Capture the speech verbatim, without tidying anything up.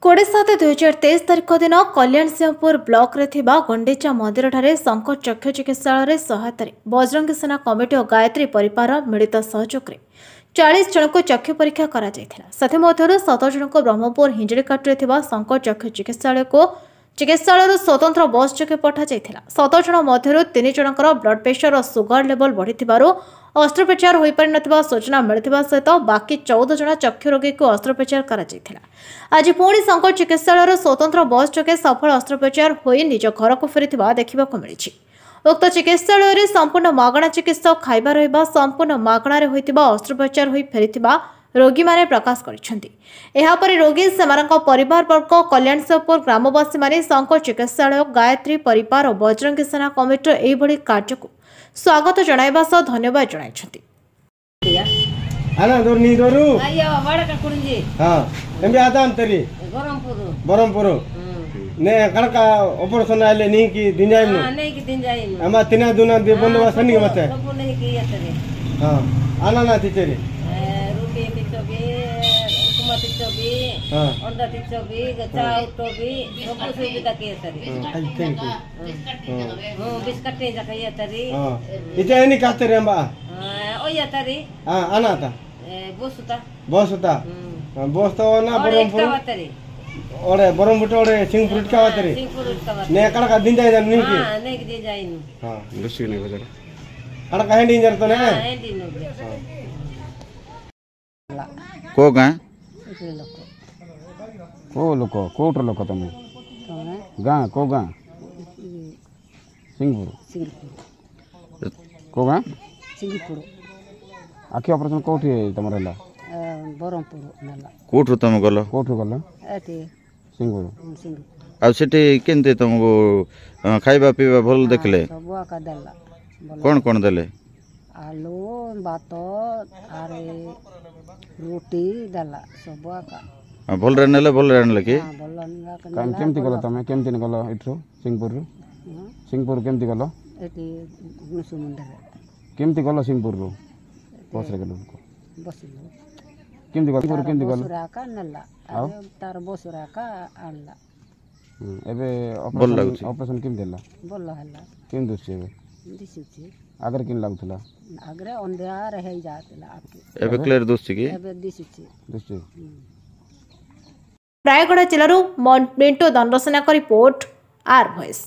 କୋଡ଼ିଏ ସାତ ଦୁଇହଜାର ତେଇଶ ତାରିଖ ଦିନ କଲ୍ୟାଣସିଂହପୁର ବ୍ଲକରେ ଥିବା ଗୁଣ୍ଡିଚା ମନ୍ଦିରଠାରେ ଶଙ୍କର ଚକ୍ଷୁ ଚିକିତ୍ସାଳୟରେ ସହାୟତାରେ ବଜରଙ୍ଗୀ ସେନା କମିଟି ଓ ଗାୟତ୍ରୀ ପରିବାର ମିଳିତ ସହଯୋଗରେ ଚାଳିଶ ଜଣଙ୍କୁ ଚକ୍ଷୁ ପରୀକ୍ଷା କରାଯାଇଥିଲା। ସେଥିମଧ୍ୟରୁ ସତର ଜଣଙ୍କୁ ବ୍ରହ୍ମପୁର ହିଞ୍ଜିଳିକାଟରେ ଥିବା ଶଙ୍କର ଚକ୍ଷୁ ଚିକିତ୍ସାଳୟକୁ ଚିକିତ୍ସାଳୟରୁ ସ୍ୱତନ୍ତ୍ର ବସ୍ ଯୋଗେ ପଠାଯାଇଥିଲା। ସତର ଜଣ ମଧ୍ୟରୁ ତିନି ଜଣଙ୍କର ବ୍ଲଡ୍ ପ୍ରେସର ଓ ସୁଗାର ଲେବଲ ବଢ଼ିଥିବାରୁ ଅସ୍ତ୍ରୋପଚାର ହୋଇପାରିନଥିବା ସୂଚନା ମିଳିଥିବା ସହିତ ବାକି ଚଉଦ ଜଣ ଚକ୍ଷୁ ରୋଗୀକୁ ଅସ୍ତ୍ରୋପଚାର କରାଯାଇଥିଲା। ଆଜି ପୁଣି ଶଙ୍କର ଚିକିତ୍ସାଳୟର ସ୍ୱତନ୍ତ୍ର ବସ୍ ଯୋଗେ ସଫଳ ଅସ୍ତ୍ରୋପଚାର ହୋଇ ନିଜ ଘରକୁ ଫେରିଥିବା ଦେଖିବାକୁ ମିଳିଛି। ଉକ୍ତ ଚିକିତ୍ସାଳୟରେ ସମ୍ପୂର୍ଣ୍ଣ ମାଗଣା ଚିକିତ୍ସା ଓ ଖାଇବା ରହିବା ସମ୍ପୂର୍ଣ୍ଣ ମାଗଣାରେ ହୋଇଥିବା ଅସ୍ତ୍ରୋପଚାର ହୋଇ ଫେରିଥିବା ରୋଗୀମାନେ ପ୍ରକାଶ କରିଛନ୍ତି। ଏହାପରେ ରୋଗୀ, ସେମାନଙ୍କ ପରିବାରବର୍ଗ, କଲ୍ୟାଣସିଂହପୁର ଗ୍ରାମବାସୀମାନେ ଶଙ୍କର ଚିକିତ୍ସାଳୟ, ଗାୟତ୍ରୀ ପରିବାର ଓ ବଜରଙ୍ଗୀ ସେନା କମିଟିର ଏହିଭଳି କାର୍ଯ୍ୟକୁ ସ୍ୱାଗତ ଜଣାଇବା ସହ ଧନ୍ୟବାଦ ଜଣାଇଛନ୍ତି। అన్న దొరు నీ దొరు. అయ్యో వాడక కురించి. ఎంబి ఆదాం తరి. గరంపూరు. బరంపురు నే కడక ఆపరేషన్ ಆಲೆ ನೀಕಿ ದಿಂಜಾಯಿನು. ନେଇକି ଦିନ ଯାଇନୁ. ಅಮ್ಮ ತಿನ್ನ ದುನ the ಬಂದೋಬಸ್ತ ನಿಗೆ ಮತ್ತೆ. ସବୁ ନେଇକି ଇଏତରେ. ಹಾ ಅನ್ನ ನಾ ತಿಚ್ಚರಿ. ରୁଟି ତିଚବି, ଉପମା ତିଚବି, ಹಾ. ଅଣ୍ଡା ତିଚବି, ଚା ଉଠବି, ସବୁ ସୁବିଧା କିଏତରି. Thank you. ହଁ, ବିସ୍କଟ ଯାକ ଇଏତରି. ಹಾ ಇಚ ಏನಿ ಕಾತರಿ ಅಂಬ. ಒಯ್ಯತರಿ. ಹಾ ಅನಾತ. ಬೋಸುತ. ಬೋಸುತಾ ಬೋಸ್ತವನ ಬರಂಪುರ. ಇಟ್ಕವತ್ತರಿ. ಓಡೆ ಬರಂಪುಟ ಓಡೆ ಸಿಂಗ್ ಫ್ರೂಟ್ ಕಾವತರಿ. ಸಿಂಗ್ ಫ್ರೂಟ್. నే కడక ದಿಂಜಾయి నీకి. ନେଇକି ଦିନ ଯାଇନୁ. ಹಾ ಕಡಕ ಹೆಂಡಿ ಇಂಜರ್ತನೆ. ହେଣ୍ଡି. କୋଉ ଗାଁ? ଲୋକ. କୋଉ ଲୋକ, କୋଉଠର ଲୋକ ତମେ? ତମେ? ଗାଁ, କୋଉ ଗାଁ? ସିଂହପୁର. ସିଙ୍ଗପୁର. କୋଉ ଗାଁ? ସିଙ୍ଗପୁର. ଆଖି ଅପରେସନ୍ କୋଉଠି ତମର ହେଲା? ବ୍ରହ୍ମପୁର ନେଲା. କୋଉଠୁ ତମେ ଗଲ? କୋଉଠୁ ଗଲ? ଏଠି. ସିଂହପୁର. ସିଙ୍ଗପୁର. ଆଉ ସେଠି କେମିତି ତମକୁ ଅ, ଖାଇବା ପିଇବା ଭଲ ଦେଖିଲେ? ସବୁ ଆକା ଦେଲା ଭଲ. କ'ଣ କ'ଣ ଦେଲେ? ଆଲୁ ଭାତ ଆରେ ରୁଟି ଦେଲା ସବୁ ଆକା. ଆଉ ଭଲରେ ନେଲେ, ଭଲରେ ଆଣିଲେ କି? ହଁ, ଭଲ ଆକା କାଇଁ ନେଲା. କେମିତି ଗଲ ତମେ? କେମିତି ଗଲ ଏଠୁ ସିଂହପୁରରୁ? ହଁ, ସିଂହପୁର କେମିତି ଗଲ? ଏଠି ଗୁଣସୁ ମନ୍ଦିରରେ. କେମିତି ଗଲ ସିଂହପୁରରୁ? ବସରେ ଗଲ? ବସିଲୁ. କେମିତି ଗଲ ସିଂହପୁର? କେମିତି ଗଲ? ବସରେ ଆକା ନେଲା. ଆଉ? ଆରେ ତାର ବସରେ ଆକା ଆଣିଲା. ହୁଁ, ଏବେ ଭଲ ଅପରେସନ୍ ଲାଗୁଛି? ଅପରେସନ୍ କେମିତି ହେଲା? ଭଲ ହେଲା. କେମିତି ଦିଶୁଛି ଏବେ? ଦିଶୁଛି. ଆଗରେ କେମିତି ଲାଗୁଥିଲା? ଆଗରେ ଅନ୍ଧାର ହେଇଯାଉଥିଲା ଆଖି. ଏବେ କ୍ଲିୟର ଦିଶୁଛି କି? ଏବେ ଦିଶୁଛି. ଦିଶୁଛି. ରାୟଗଡ଼ା ଜିଲ୍ଲାରୁ ମିଣ୍ଟୁ ଦଣ୍ଡସେନାଙ୍କ ରିପୋର୍ଟ, ଆର୍ ଭଏସ୍।